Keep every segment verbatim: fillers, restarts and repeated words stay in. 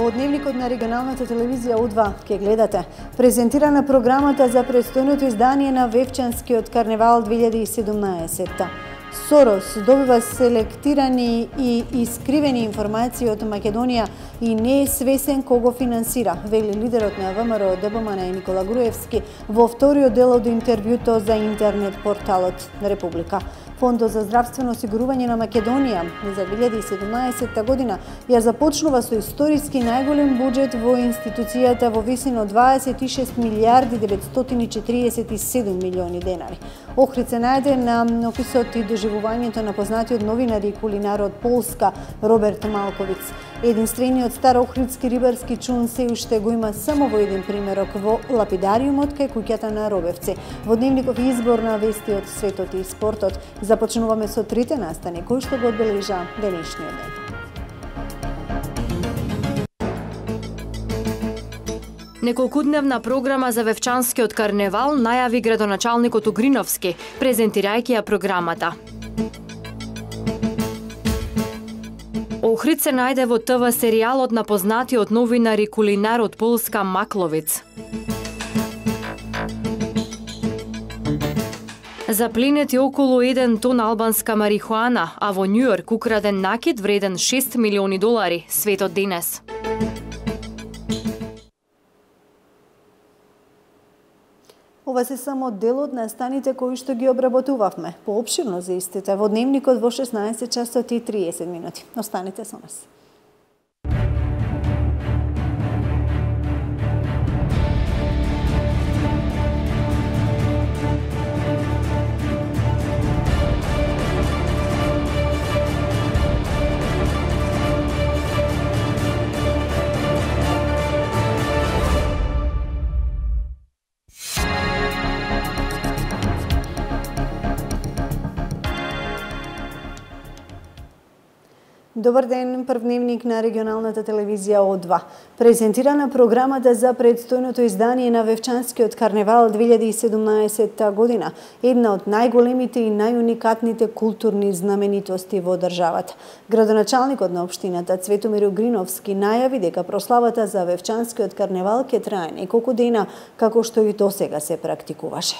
Во дневникот на регионалната телевизија У два ке гледате презентирана програмата за престојното издание на Вевчанскиот карневал две илјади и седумнаесетта. Сорос добива селектирани и искривени информации од Македонија и не е свесен кого финансира, вели лидерот на ВМРО ДПМН Никола Груевски во вториот дел од интервјуто за интернет порталот на Република. Фондот за здравствено осигурување на Македонија за две илјади и седумнаесетта година ја започнува со историски најголем буџет во институцијата во висина од дваесет и шест милијарди деветстотини четиридесет и седум милиони денари. Охрид се најде на описот и доживувањето на познатиот новинар и кулинар од Полска Роберт Малковиц. Единствениот стар охридски рибарски чун се уште го има само во еден примерок во лапидариумот кај куќата на Робевци. Во дневников избор на вести од светот и спортот започнуваме со трите настани кои што го одбележа денешниот ден. Неколкудневна програма за Вевчанскиот карневал најави градоначалникот Угриновски, презентирајќи ја програмата. Охрид се најде во ТВ серијалот на познатиот новинар и кулинар од Полска Макловиц. Запленети околу еден тон албанска марихуана, а во Њујорк украден накид вреден шест милиони долари, светот денес. Ова се само дел од настаните кои што ги обработувавме. Поопширно за истите во дневникот во шеснаесет часот и триесет минути. Останете со нас. Добар ден, прв дневник на регионалната телевизија О два. Презентирана програмата за предстојното издание на Вевчанскиот карневал две илјади и седумнаесетта година, една од најголемите и најуникатните културни знаменитости во државата. Градоначалникот на општината Цветомир Угриновски најави дека прославата за Вевчанскиот карневал ќе трае неколку дена, како што и досега се практикуваше.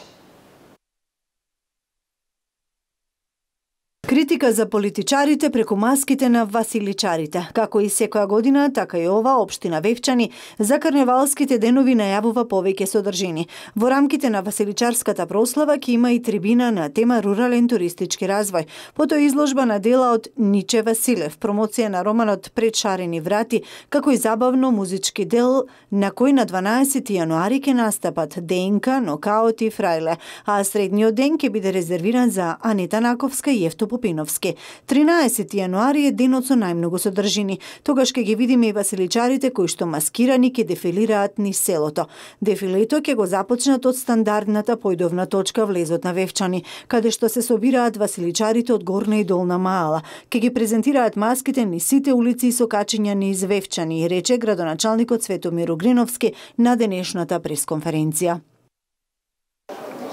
Критика за политичарите преку маските на василичарите. Како и секоја година, така и ова општина Вевчани за карневалските денови најавува повеќе содржини. Во рамките на василичарската прослава ќе има и трибина на тема рурален туристички развој. Потоа изложба на дела од Ниче Василев, промоција на романот Пред шарени врати, како и забавно музички дел на кој на дванаесети јануари ќе настапат Денка, Нокаут и Фрајле, а средниот ден ќе биде резервиран за Анита Наковска и Евто Попиновски. тринаесети јануари е денот со најмногу содржини. Тогаш ќе ги видиме и василичарите кои што маскирани ќе дефилираат низ селото. Дефилето ќе го започнат од стандардната појдовна точка влезот на Вевчани, каде што се собираат василичарите од Горна и Долна Маала. Ќе ги презентираат маските низ сите улици и сокачиња низ Вевчани, рече градоначалникот Цветомир Угриновски на денешната пресконференција.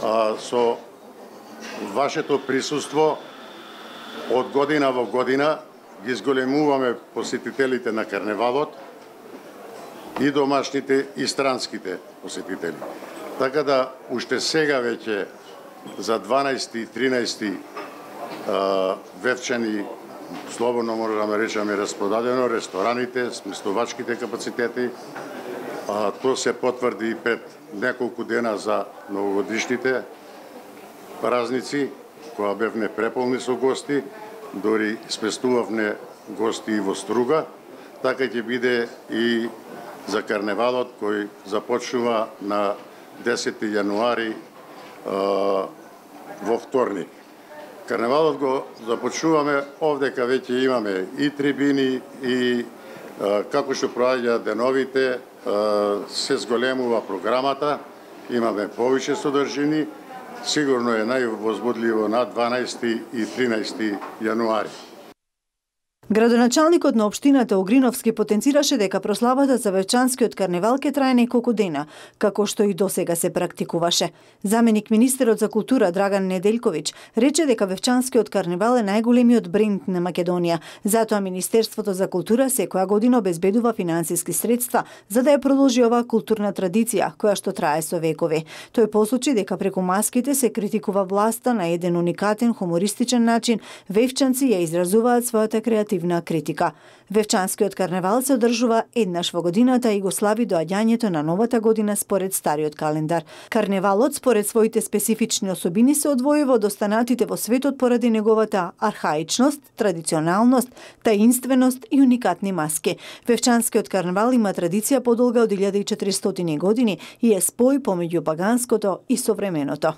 А, со вашето присуство од година во година ги зголемуваме посетителите на карневалот и домашните и странските посетители. Така да уште сега веќе за дванаесети и тринаесети Вевчани слободно можеме да речеме распродадено, рестораните, сместувачките капацитети. А, тоа се потврди и пред неколку дена за новогодишните празници, која бевне преполни со гости, дори сместувавне гости и во Струга, така ќе биде и за карневалот кој започнува на десети јануари во вторник. Карневалот го започнуваме овдека веќе имаме и трибини и како што проаѓа деновите се зголемува програмата, имаме повеќе содржини. Сигурно е највозбудливо на дванаесети и тринаесети јануари. Градоначалникот на општината Огриновски потенцираше дека прославата за Вевчанскиот карневал ќе трае неколку дена, како што и досега се практикуваше. Заменик министерот за култура Драган Неделковиќ рече дека Вевчанскиот карневал е најголемиот бренд на Македонија, затоа Министерството за култура секоја година обезбедува финансиски средства за да ја продолжи оваа културна традиција, која што трае со векови. Тој посочи дека преку маските се критикува власта на еден уникатен хумористичен начин, вевчанци ја изразуваат својата креативна критика. Вевчанскиот карневал се одржува еднаш во годината и го слави доаѓањето на новата година според стариот календар. Карневалот според своите специфични особини се одвојува од останатите во светот поради неговата архаичност, традиционалност, таинственост и уникатни маски. Вевчанскиот карневал има традиција подолга од илјада и четиристотини години и е спој помеѓу паганското и современото.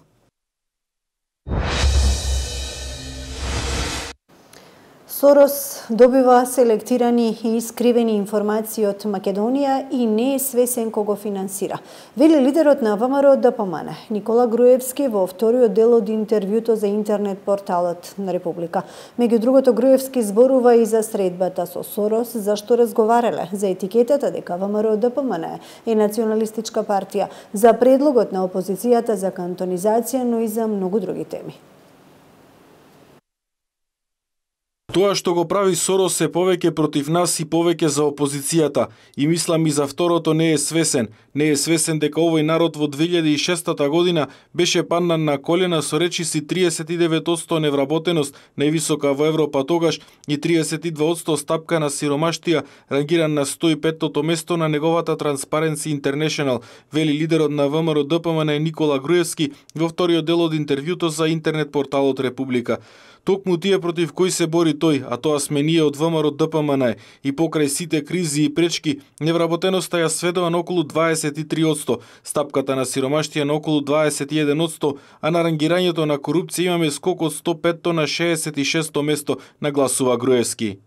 Сорос добива селектирани и искривени информации од Македонија и не е свесен кого финансира. Вели лидерот на ВМРО ДПМН Никола Груевски во вториот дел од интервјуто за интернет порталот на Република. Меѓу другото, Груевски зборува и за средбата со Сорос, зашто разговарале за етикетата дека ВМРО ДПМН е националистичка партија, за предлогот на опозицијата за кантонизација, но и за многу други теми. Тоа што го прави Сорос е повеќе против нас и повеќе за опозицијата. И мислам и за второто не е свесен. Не е свесен дека овој народ во две илјади и шеста година беше паднан на колена со речиси триесет и девет одсто невработеност, највисока во Европа тогаш, и триесет и два одсто стапка на сиромаштија, рангиран на сто и петтото место на неговата Transparency International, вели лидерот на ВМРО ДПМН Никола Груевски во вториот дел од интервјуто за интернет порталот Република. Токму тие против кои се бори тој, а тоа сме ние од ВМРО ДПМН, и покрај сите кризи и пречки, невработеноста ја сведува на околу дваесет и три одсто, стапката на сиромаштија на околу дваесет и еден одсто, а на рангирањето на корупција имаме скок од сто петто на шеесет и шесто место, нагласува Груевски.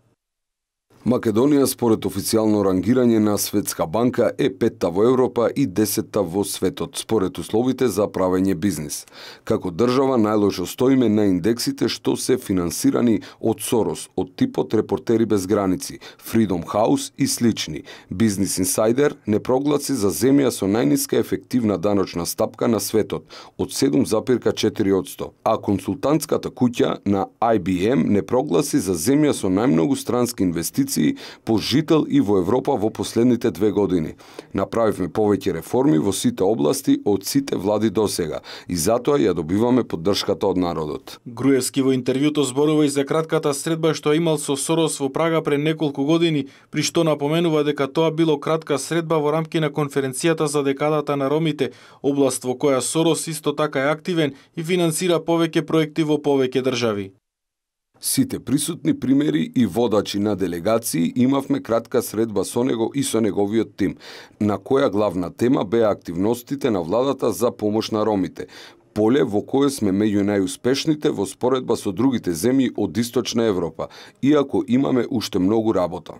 Македонија според официјално рангирање на Светска банка е петта во Европа и десетта во светот според условите за правење бизнис. Како држава најлошо стоиме на индексите што се финансирани од Сорос, од типот Репортери без граници, Freedom House и слични. Бизнес Инсайдер не прогласи за земја со најниска ефективна даночна стапка на светот од седум запир четири одсто, а консултантската куќа на I B M не прогласи за земја со најмногу странски инвестиции по жител и во Европа во последните две години. Направивме повеќе реформи во сите области од сите влади досега и затоа ја добиваме поддршката од народот. Груевски во интервјуто зборува и за кратката средба што имал со Сорос во Прага пред неколку години, при што напоменува дека тоа било кратка средба во рамки на конференцијата за декадата на ромите, област во која Сорос исто така е активен и финансира повеќе проекти во повеќе држави. Сите присутни примери и водачи на делегации имавме кратка средба со него и со неговиот тим, на која главна тема беа активностите на владата за помош на ромите, поле во кое сме меѓу најуспешните во споредба со другите земји од Источна Европа, иако имаме уште многу работа.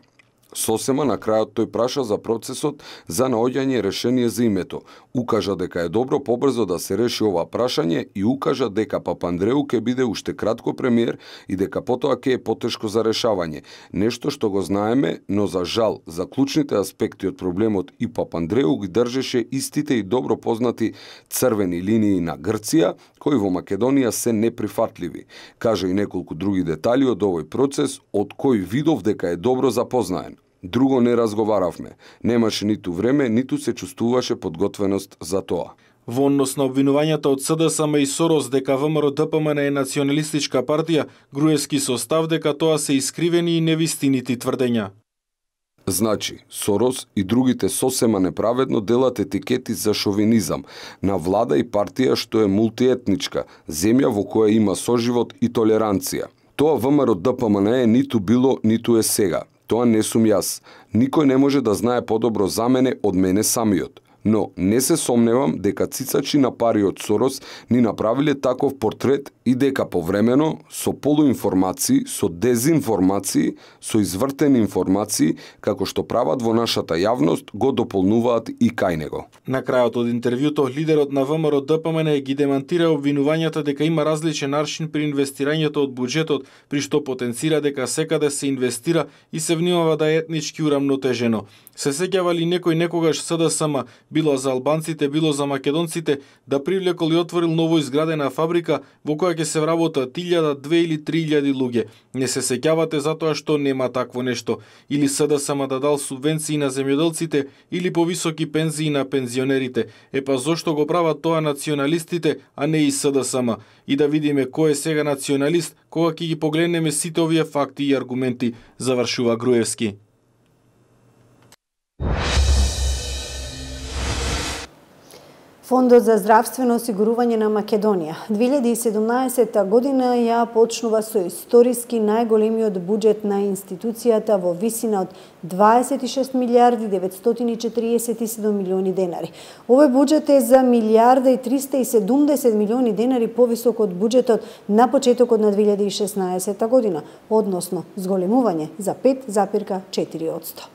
Сосема на крајот тој праша за процесот за наоѓање решение за името. Укажа дека е добро побрзо да се реши ова прашање и укажа дека Папандреу ќе биде уште кратко премиер и дека потоа ќе е потешко за решавање. Нешто што го знаеме, но за жал, за клучните аспекти од проблемот и Папандреу ги држеше истите и добро познати црвени линии на Грција, кои во Македонија се неприфатливи. Кажа и неколку други детали од овој процес, од кој видов дека е добро запознаен. Друго не разговаравме. Немаше ниту време, ниту се чувствуваше подготвеност за тоа. Во однос на обвинувањата од С D S M и Сорос дека ВМРО ДПМН е националистичка партија, Груевски со став дека тоа се искривени и невистинити тврдења. Значи, Сорос и другите сосема неправедно делат етикети за шовинизам на влада и партија што е мултиетничка, земја во која има соживот и толеранција. Тоа ВМРО ДПМН е ниту било, ниту е сега. Тоа не сум јас. Никој не може да знае подобро за мене од мене самиот. но не се сомневам дека цицачи на пари од Сорос ни направиле таков портрет и дека повремено со полуинформации, со дезинформации, со извртени информации, како што прават во нашата јавност, го дополнуваат и кај него. На крајот од интервјуто, лидерот на ВМРО Д П М Н ги демантира обвинувањата дека има различен аршин при инвестирањето од буџетот, при што потенцира дека секаде се инвестира и се внимава да е етнички урамнотежено. Се сеќава ли некој некогаш С Д С М, било за албанците, било за македонците, да привлекол и отворил ново изградена фабрика во која ќе се вработат илјада, две или три илјади луѓе? Не се сеќавате затоа што нема такво нешто. Или С Д С М да дал субвенции на земјоделците или повисоки пензии на пензионерите. Е па зошто го прават тоа националистите, а не и С Д С М? И да видиме кој е сега националист, кога ќе ги погледнеме сите овие факти и аргументи, завршува Груевски. Фондот за здравствено осигурување на Македонија две илјади и седумнаесетта година ја почнува со историски најголемиот буџет на институцијата во висина од дваесет и шест милијарди деветстотини и четириесет и седум милиони денари. Овој буџет е за милијарда и триста и седумдесет милиони денари повисок од буџетот на почетокот на две илјади и шеснаесетта година, односно зголемување за пет запирка четири одсто.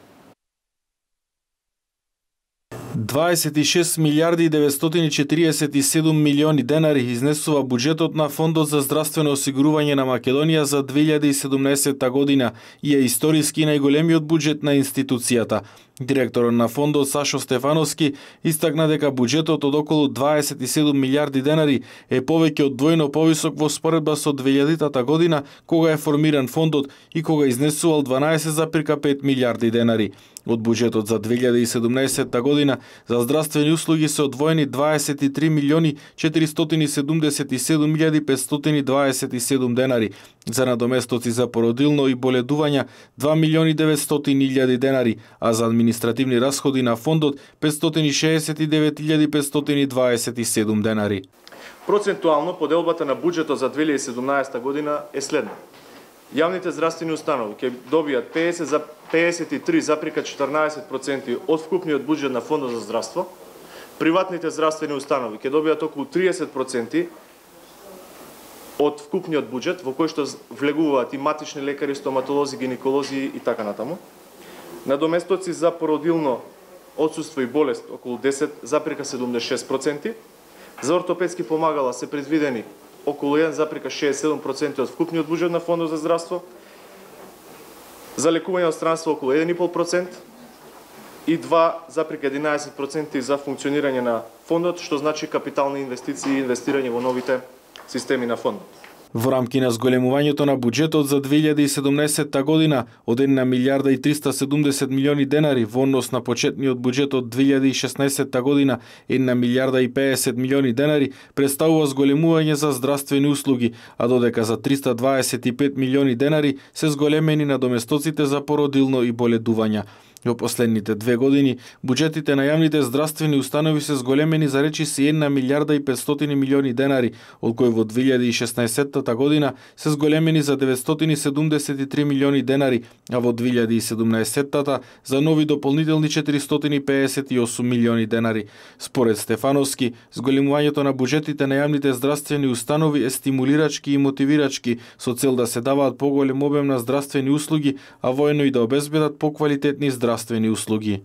дваесет и шест милијарди деветстотини и четириесет и седум милиони денари изнесува буџетот на Фондот за здравствено осигурување на Македонија за две илјади и седумнаесетта година и е историски најголемиот буџет на институцијата. Директорот на фондот Сашо Стефановски истакна дека буџетот од околу дваесет и седум милијарди денари е повеќе од двојно повисок во споредба со двејадитата година, кога е формиран фондот и кога изнесувал дванаесет запирка пет милијарди денари. Од буџетот за две илјади и седумнаесетта година за здравствени услуги се одвоени дваесет и три милиони четиристотини седумдесет и седум илјади петстотини дваесет и седум денари, за надоместоци за породилно и боледувања два милиони деветстотини илјади денари, а за административни расходи на фондот петстотини и шеесет и девет илјади петстотини дваесет и седум денари. Процентуално поделбата на буџетот за две илјади и седумнаесетта година е следна. Јавните здравствени установи ќе добијат пеесет и три запирка четрнаесет проценти од вкупниот буџет на Фондот за здравство, приватните здравствени установи ќе добијат околу триесет проценти од вкупниот буџет, во кој што влегуваат и матични лекари, стоматолози, гинеколози и така натаму. Надоместоци за породилно отсуство и болест околу десет запирка седумдесет и шест проценти. За ортопедски помагала се предвидени околу еден запирка шеесет и седум проценти од вкупниот буџет на Фондот за здравство. За лекување од странство околу еден и пол процент и два запирка единаесет проценти за функционирање на фондот, што значи капитални инвестиции и инвестирање во новите системи на фондот. Во рамки на зголемувањето на буџетот за две илјади и седумнаесетта година од една милијарда и триста седумдесет милиони денари во однос на почетниот буџет од две илјади и шеснаесетта година една милијарда и пеесет милиони денари представува зголемување за здравствени услуги, а додека за триста дваесет и пет милиони денари се зголемени надоместоците за породилно и боледувања. Во последните две години, буџетите на јавните здравствени установи се зголемени за речиси една милијарда и петстотини милиони денари, од кои во две илјади и шеснаесетта година се зголемени за деветстотини седумдесет и три милиони денари, а во две илјади и седумнаесетта за нови дополнителни четиристотини пеесет и осум милиони денари. Според Стефановски, зголемувањето на буџетите на јавните здравствени установи е стимулирачки и мотивирачки, со цел да се даваат поголем обем на здравствени услуги, а воедно и да обезбедат поквалитетни здравствени здравствени услуги.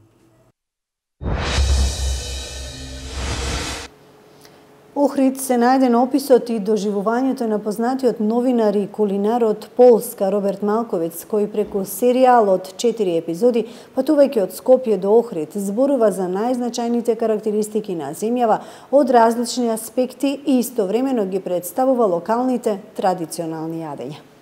Охрид се најде на описот и доживувањето на познатиот новинар и кулинар од Полска Роберт Малковиц, кој преку серијал од четири епизоди, патувајќи од Скопје до Охрид, зборува за најзначајните карактеристики на земјава од различни аспекти и истовремено ги представува локалните традиционални јадења.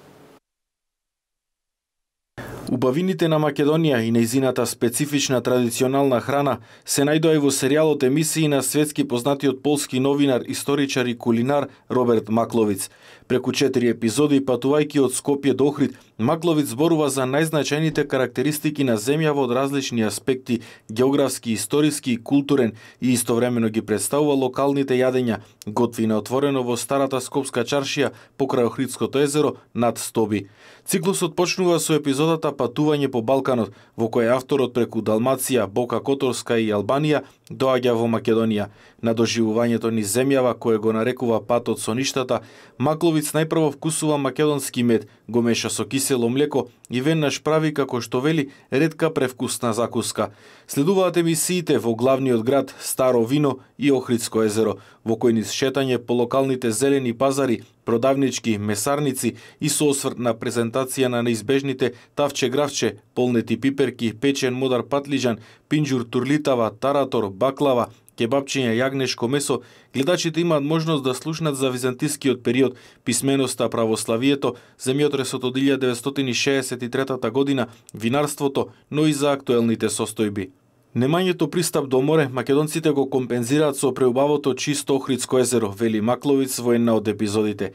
Убавините на Македонија и нејзината специфична традиционална храна се најдоа и во серијалот емисии на светски познатиот полски новинар, историчар и кулинар Роберт Макловиц. Преку четири епизоди, патувајќи од Скопје до Охрид, Макловиц зборува за најзначајните карактеристики на земјава од различни аспекти, географски, историски и културен, и истовремено ги представува локалните јадења, готвина отворено во старата скопска чаршија покрај Охридското езеро над Стоби. Циклусот почнува со епизодата Патување по Балканот, во кој авторот преку Далмација, Бока Которска и Албанија доаѓа во Македонија. На доживувањето низ земјава, кое го нарекува патот со ништата, Макловиц најпрво вкусува македонски мед, го меша со кисело млеко и веднаш прави, како што вели, ретка превкусна закуска. Следуваат емисиите во главниот град, Старо вино и Охридско езеро, во кој низ шетање по локалните зелени пазари, продавнички, месарници и со осврт на презентација на неизбежните тавче гравче, полнети пиперки, печен модар патлижан, пинџур турлитава, таратор, баклава, кебапчиња, јагнешко месо, гледачите имаат можност да слушнат за византискиот период, писменоста, православието, земјотресот од илјада деветстотини шеесет и трета година, винарството, но и за актуелните состојби. Немањето пристап до море, македонците го компензираат со преубавото чисто Охридско езеро, вели Макловиц во една од епизодите.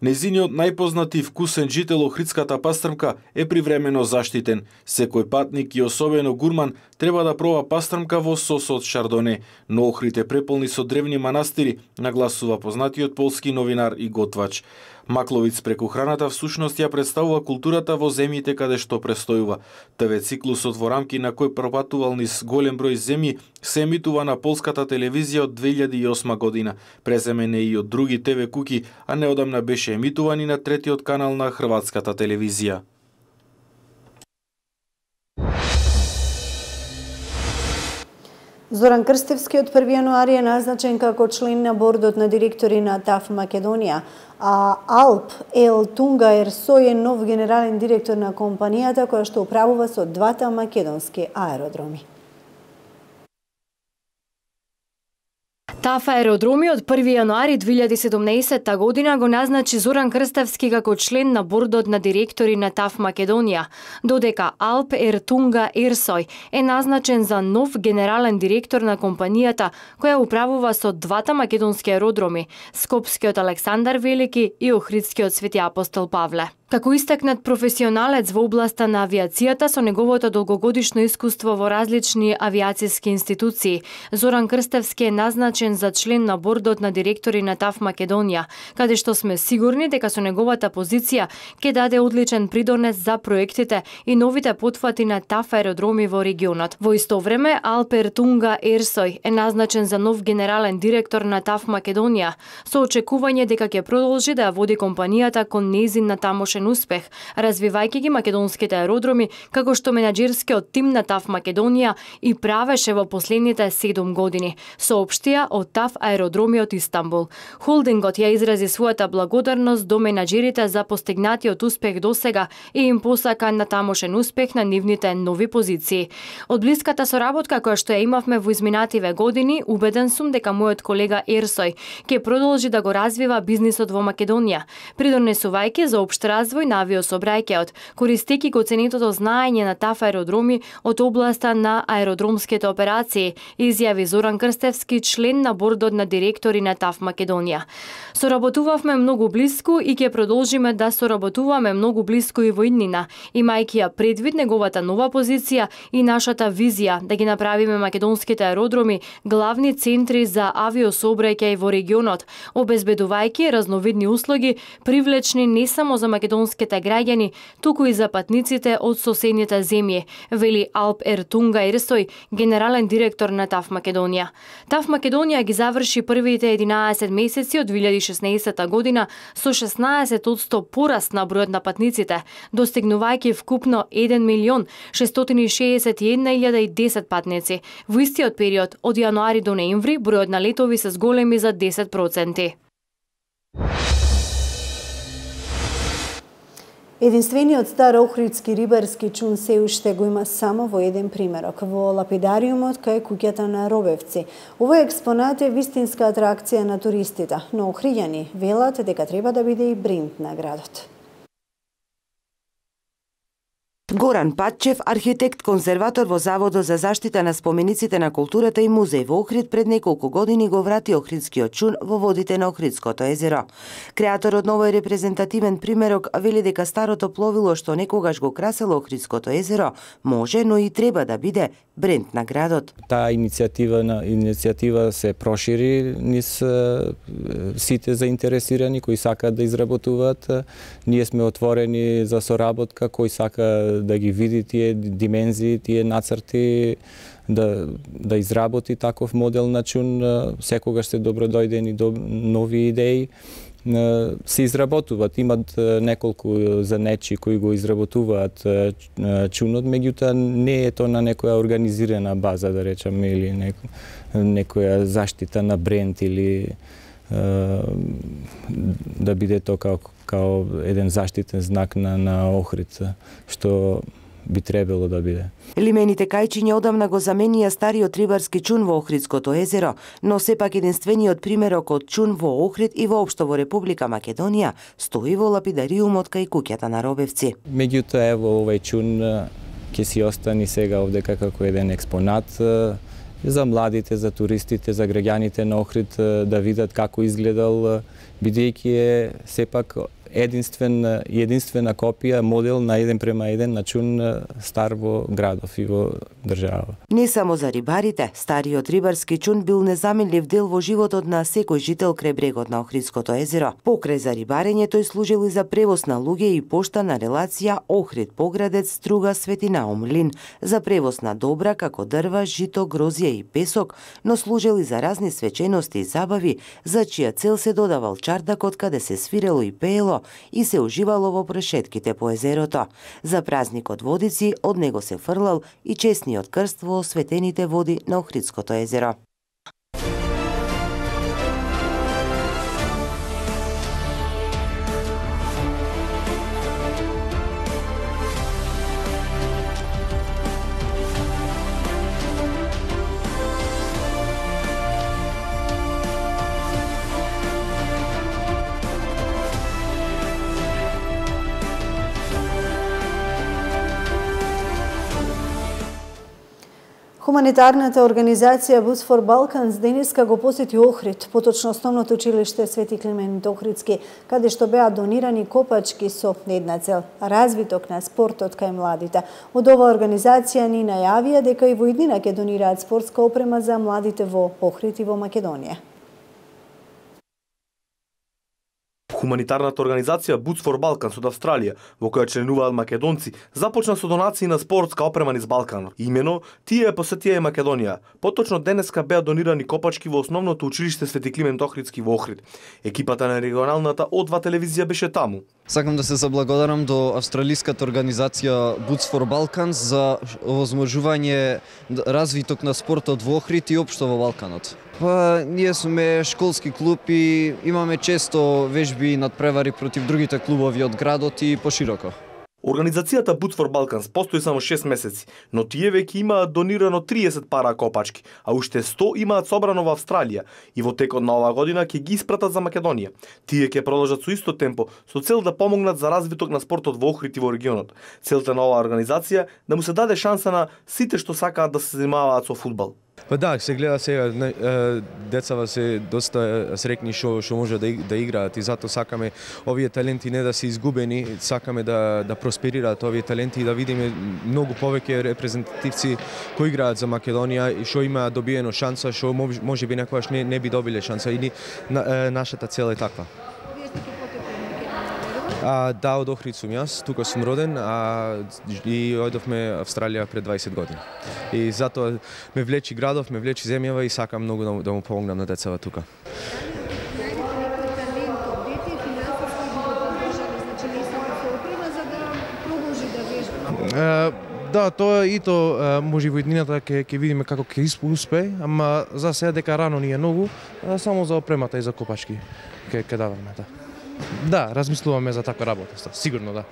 Незиниот најпознати и вкусен жител Охридската пастрмка е привремено заштитен. Секој патник и особено гурман треба да проба пастрмка во сос од шардоне, но Охрид е преполни со древни манастири, нагласува познатиот полски новинар и готвач. Макловиц преку храната всушност ја представува културата во земјите каде што престојува. Те ве циклусот во рамки на кој пропатувал низ голем број земји се емитува на полската телевизија од две илјади и осма година. Преземен е и од други те ве куки, а неодамна беше емитуван и на третиот канал на хрватската телевизија. Зоран Крстевски од први јануари е назначен како член на бордот на директори на ТАФ Македонија, а Алп Елтунга Ерсој е нов генерален директор на компанијата која што управува со двата македонски аеродроми. ТАФ аеродроми од први јануари две илјади и седумнаесетта година го назначи Зоран Крстевски како член на бордот на директори на ТАФ Македонија, додека Алп Ертунга Ерсој е назначен за нов генерален директор на компанијата која управува со двата македонски аеродроми, Скопскиот Александар Велики и Охридскиот Свети Апостол Павле. Како истакнат професионалец во областа на авиацијата со неговото долгогодишно искуство во различни авиацијски институции, Зоран Крстевски е назначен за член на бордот на директори на ТАФ Македонија, каде што сме сигурни дека со неговата позиција ќе даде одличен придонес за проектите и новите потфати на ТАФ аеродроми во регионот. Во исто време, Алп Ертунга Ерсој е назначен за нов генерален директор на ТАФ Македонија, со очекување дека ќе продолжи да ја води компанијата кон нејзин на тамошен успех, развивајќи ги македонските аеродроми, како што менаџерскиот тим на ТАФ Македонија и правеше во последните седум години, соопштија од ТАФ аеродроми од Истанбул. Холдингот ја изрази својата благодарност до менаџерите за постигнатиот успех досега и им посака на тамошен успех на нивните нови позиции. Од блиската соработка која што ја имавме во изминативе години, убеден сум дека мојот колега Ерсој ќе продолжи да го развива бизнисот во Македонија, придонесувајќи за општ развој на авиособрајќеот, користејќи го ценетото знаење на ТАФ аеродроми од областа на аеродромските операции, изјави Зоран Крстевски, член на бордот на директори на ТАФ Македонија. Соработувавме многу блиску и ќе продолжиме да соработуваме многу блиску и во иднина, имајќи ја предвид неговата нова позиција и нашата визија да ги направиме македонските аеродроми главни центри за авиособрајќај во регионот, обезбедувајќи разновидни услуги привлечни не само за македонските граѓани, туку и за патниците од соседните земји, вели Алп Ертунга Ерсој, генерален директор на ТАФ Македонија. ТАФ Македонија ги заврши првите единаесет месеци од две илјади и шеснаесетта година со шеснаесет одсто пораст на бројот на патниците, достигнувајќи вкупно еден милион шестстотини шеесет и една илјада и десет патници. Во истиот период, од јануари до ноември, бројот на летови се зголеми за десет проценти. Единствениот стар охридски рибарски чун се уште го има само во еден примерок, во лапидариумот кај куќата на Робевци. Овој експонат е вистинска атракција на туристите, но охриѓани велат дека треба да биде и бренд на градот. Горан Патчев, архитект, конзерватор во Заводот за заштита на спомениците на културата и музеј во Охрид, пред неколку години го врати охридскиот чун во водите на Охридското езеро. Креаторот на овој репрезентативен примерок вели дека старото пловило што некогаш го красело Охридското езеро може, но и треба да биде бренд на градот. Таа иницијатива на иницијатива се прошири низ сите заинтересирани кои сакаат да изработуваат. Ние сме отворени за соработка, кој сака да ги види тие димензии, тие нацрти, да да изработи таков модел на чун. Секогаш се добродојдени до нови идеи. Се изработуваат, имат неколку занечи кои го изработуваат чунот, меѓутоа не е тоа на некоја организирана база, да речеме, или неко, некоја заштита на бренд или да биде тоа као, као еден заштитен знак на, на Охрид, што би требало да биде. Лимените кајчиња одамна го заменија стариот рибарски чун во Охридското езеро, но сепак единствениот примерок од чун во Охрид и воопшто во Република Македонија стои во лапидариумот кај куќата на Робевци. Меѓутоа, ево, овај чун ќе си остани сега овдека како еден експонат за младите, за туристите, за граѓаните на Охрид да видат како изгледал, бидејќи е сепак единствен единствена копија, модел на еден према еден на чун стар во градов и во држава. Не само за рибарите, стариот рибарски чун бил незаменлив дел во животот на секој жител крај брегот на Охридското езеро. Покрај за рибарење, тој служил и за превоз на луѓе и пошта на релација Охрид-Поградец, Струга, Светинаум, Лин, за превоз на добра како дрва, жито, грозје и песок, но служил и за разни свечености и забави, за чија цел се додавал чардакот каде се свирело и пеело и се уживало во прешетките по езерото. За празникот Водици од него се фрлал и честниот крст во осветените води на Охридското езеро. Хуманитарната организација Boots for Balkans денеска го посети Охрид, поточно основното училиште Свети Климент Охридски, каде што беа донирани копачки со една цел – развиток на спортот кај младите. Од оваа организација ни најавија дека и во иднина ќе донираат спортска опрема за младите во Охрид и во Македонија. Хуманитарната организација Boots for Balkans од Австралија, во која членуваат македонци, започна со донации на спортска опрема низ Балканот. Имено, тие ја посетија и Македонија. Поточно денеска беа донирани копачки во основното училиште Свети Климент Охридски во Охрид. Екипата на регионалната О два телевизија беше таму. Сакам да се заблагодарам до австралиската организација Boots for Balkans за овозможување развиток на спортот во Охрид и општо во Балканот. Па, ние сме школски клуб и имаме често вежби и надпревари против другите клубови од градот и пошироко. Организацијата Boots for Balkans постои само шест месеци, но тие веќе имаат донирано триесет пара копачки, а уште сто имаат собрано во Австралија и во текот на оваа година ќе ги испратат за Македонија. Тие ќе продолжат со исто темпо, со цел да помогнат за развиток на спортот во Охрид и во регионот. Целта на оваа организација да му се даде шанса на сите што сакаат да се занимаваат со фудбал. Па да, се гледа сега, децава се доста срекни што што може да да играат и затоа сакаме овие таленти не да се изгубени, сакаме да да просперираат овие таленти и да видиме многу повеќе репрезентативци кои играат за Македонија и што имаат добиено шанса, што може би некогаш не не би добиле шанса и на, нашата цел е таква. А, да, од Охрид сум јас, тука сум роден, а и ојдовме Австралија пред дваесет години. И затоа ме влечи градов, ме влечи земјава и сакам многу да, да му помогнам на децава тука. Uh, да, тоа и тоа може во иднината ќе ќе видиме како ќе успее, ама за сега дека рано ни е многу, само за опремата и за копачки ќе ќе даваме да. Да, размислуваме за таква работа, сигурно да.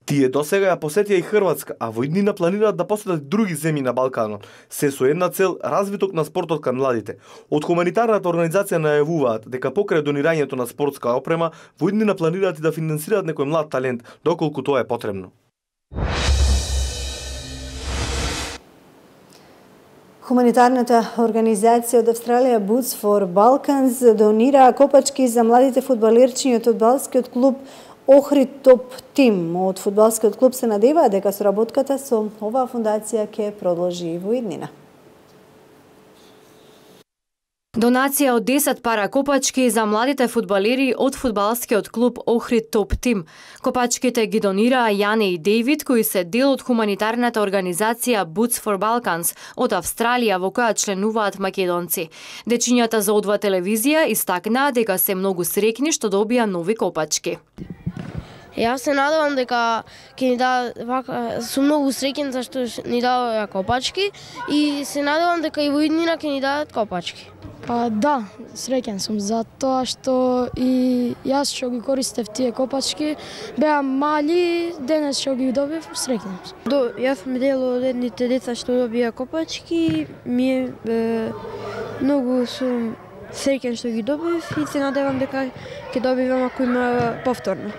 Тие досега ја посетија и Хрватска, а во иднина планираат да посетат други земји на Балканот, се со една цел развиток на спортот кај младите. Од хуманитарната организација најавуваат дека покрај донирањето на спортска опрема, во иднина планираат и да финансираат некој млад талент, доколку тоа е потребно. Хуманитарната организација од Австралија Boots for Balkans донира копачки за младите фудбалерчиња од фудбалскиот клуб Охрид Топ Тим. Од фудбалскиот клуб се надеваат дека соработката со оваа фундација ќе продолжи во иднина. Донација од десет пара копачки за младите фудбалери од фудбалскиот клуб Охрид Топ Тим. Копачките ги донираа Јане и Дејвид, кои се дел од хуманитарната организација Boots for Balkans од Австралија, во која членуваат македонци. Дечињата за О два телевизија истакнаа дека се многу среќни што добија нови копачки. Јас се надевам дека ќе ни дадат вака, сум многу среќен зашто ни дадоа копачки и се надевам дека и во иднина ќе ни дадат копачки. Па да, среќен сум затоа што и јас што ги користев тие копачки беа мали, денес што ги добив среќен сум. До, јас сум дел од едните деца што добија копачки, ми е, е многу сум среќен што ги добив и се надевам дека ќе добивам ако има повторно.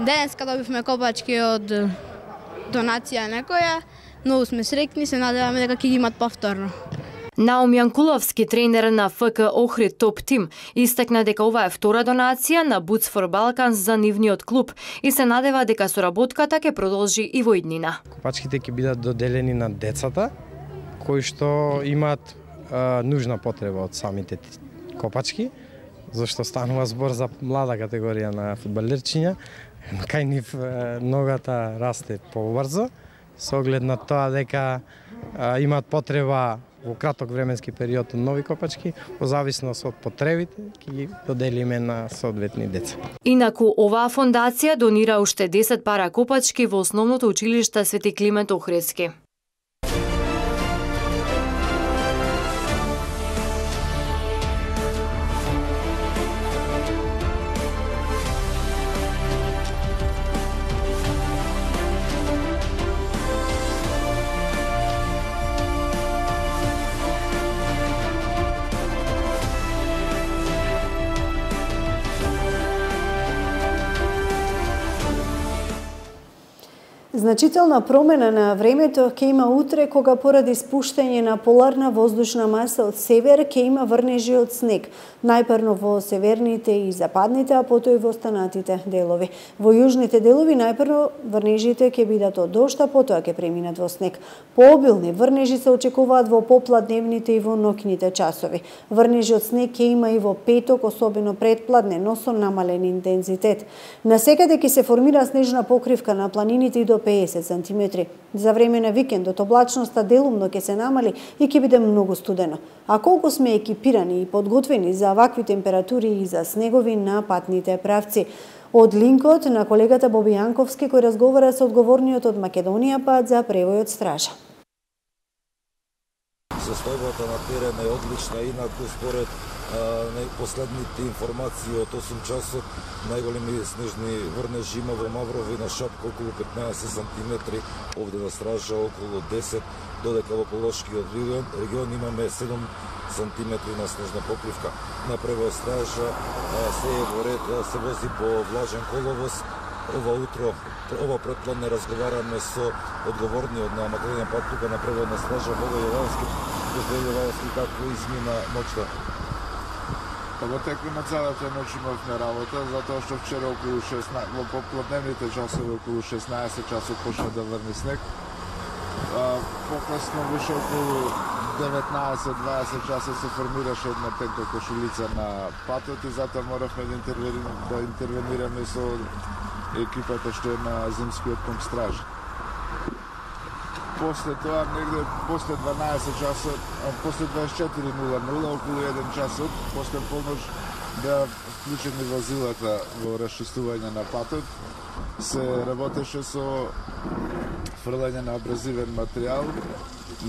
Денеска добивме копачки од донација некоја, многу сме среќни, се надеваме дека ќе ги имат повторно. Наум Јанкуловски, тренер на ФК Охрид Топ Тим, истакна дека ова е втора донација на Boots for Balkans за нивниот клуб и се надева дека соработката ќе продолжи и во иднина. Копачките ќе бидат доделени на децата кои што имаат а, нужна потреба од самите копачки, зашто станува збор за млада категорија на фудбалерчиња. Кај нив ногата расте побрзо, со оглед на тоа дека а, имаат потреба во краток временски период од нови копачки, во зависност од потребите, ќе ги доделиме на соодветни деца. Инаку, оваа фондација донира уште десет пара копачки во основното училиште Свети Климент Охридски. Значителна промена на времето ќе има утре, кога поради спуштање на поларна воздушна маса од север ќе има врнежи од снег, најпрво во северните и западните, а потоа и во останатите делови. Во јужните делови најпрво врнежите ќе бидат од дожд, а потоа ќе преминат во снег. Пообилни врнежи се очекуваат во попладневните и во ноќните часови. Врнежи од снег ќе има и во петок, особено предпладне, но со намален интензитет. Насекаде ќе се формира снежна покривка на планините и до педесет сантиметри. За време на викендот облачноста делумно ќе се намали и ќе биде многу студено. А колку сме екипирани и подготвени за вакви температури и за снегови на патните правци? Од линкот на колегата Боби Јанковски, кој разговара со одговорниот од Македонија пат за превој од стража. Состојбата на терен е одлична, инаку според последните информации од осум часот најголеми снежни врнежи има во Маврово и на Шапка околу петнаесет сантиметри, овде на стража околу десет, додека во Полошкиот регион, регион имаме седум сантиметри на снежна покривка. На превој стража се е во ред, се вози по влажен коловоз. Ова утро, ова предпладне разговараме со одговорниот на Македонија пат тука на преводна стража Бога Јовановски. Господин Јовановски, како измина ноќта? Па во текот на целата ноќ имавме работа, затоа што вчера околу шеснаесет, во попладневните часови околу шеснаесет часот почна да врне снег. Покасно више околу деветнаесет дваесет часа се формираше една тенка кошулица на патот и затоа моравме да интервенираме, да интервенираме со екипата што е на зимскиот пункт стража. После тоа, негде после дванаесет часот, после дваесет и четири нула нула, околу еден часот, после полноќ беа вклучени возилата во расчистување на патот. Се работеше со фрлање на абразивен материјал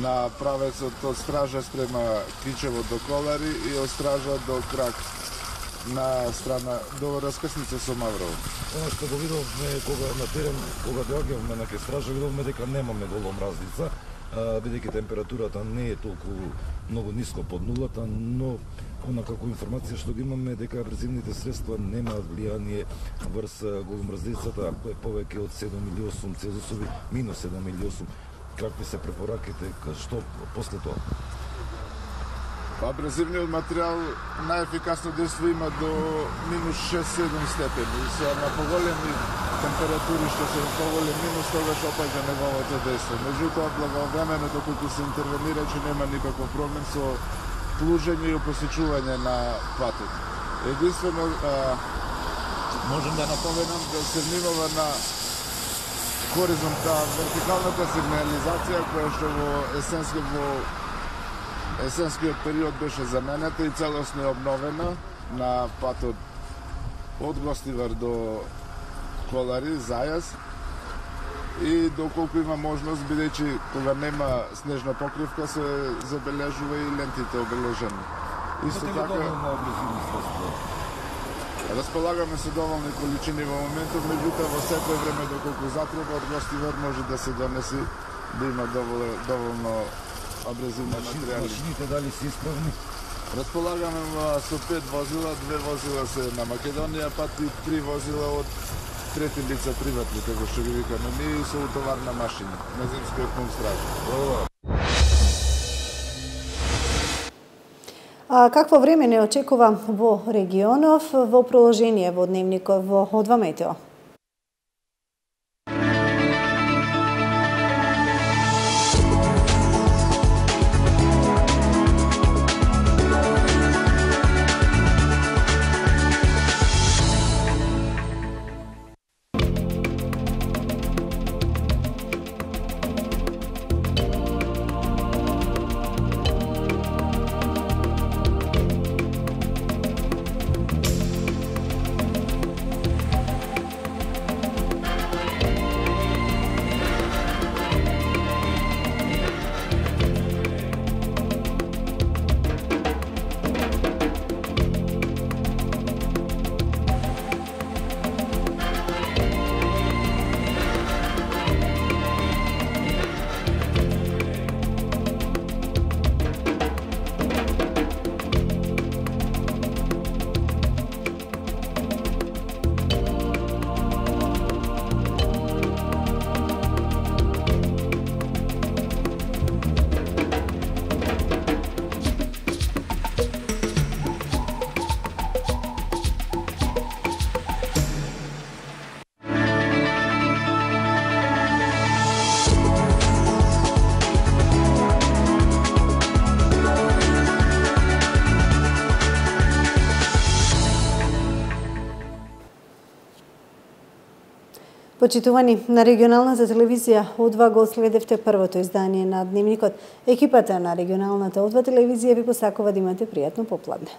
на правецот од стража спрема Кичево до Колари и од стража до Крак на страна до раскрсница со Маврово. Она што го видовме кога на терен, кога доаѓавме на ке стража, видовме дека немаме голем разлица, бидејќи температурата не е толку многу ниско под нулата, но она како информација што ги имаме дека абразивните средства немаат влијание врз голомразлицата, ако е повеќе од седум или осум Целзиусови, минус седум или осум. Какви се препораките, што после тоа? Абразивниот материјал најефикасно дејство има до минус шест-седум степени. Се на поголеми температури што се поголем минус, тогаш опаѓа неговото дејство. Меѓутоа, благовремено доколку се интервенира, че нема никаков проблем со служење и посечување на патот. Единствено можам да напоменам да се внимава на хоризонта, вертикалната сигнализација која што во есенски во есенскиот период беше заменета и целосно е обновена на патот од Гостивар до Колари, Зајас. И доколку има можност, бидејќи кога нема снежна покривка, се забележува и лентите обележени. Исто така располагаме со доволни количини во моментот, меѓутоа во секој време доколку затреба од Гостивар може да се донеси да има доволно, доволно абразивни материјали. Машините дали се исправни? Располагаме со пет возила, две возила се на Македонија, пат и три возила од трети лица приватни, како што ги викаме ние, и со утоварна машина на земскиот комстража. А какво време не очекува во регионов во продолжение во дневникот во Одва Метео? Почитувани, на регионалната телевизија Одва го следевте првото издание на Дневникот. Екипата на регионалната Одва телевизија ви посакува да имате пријатно попладне.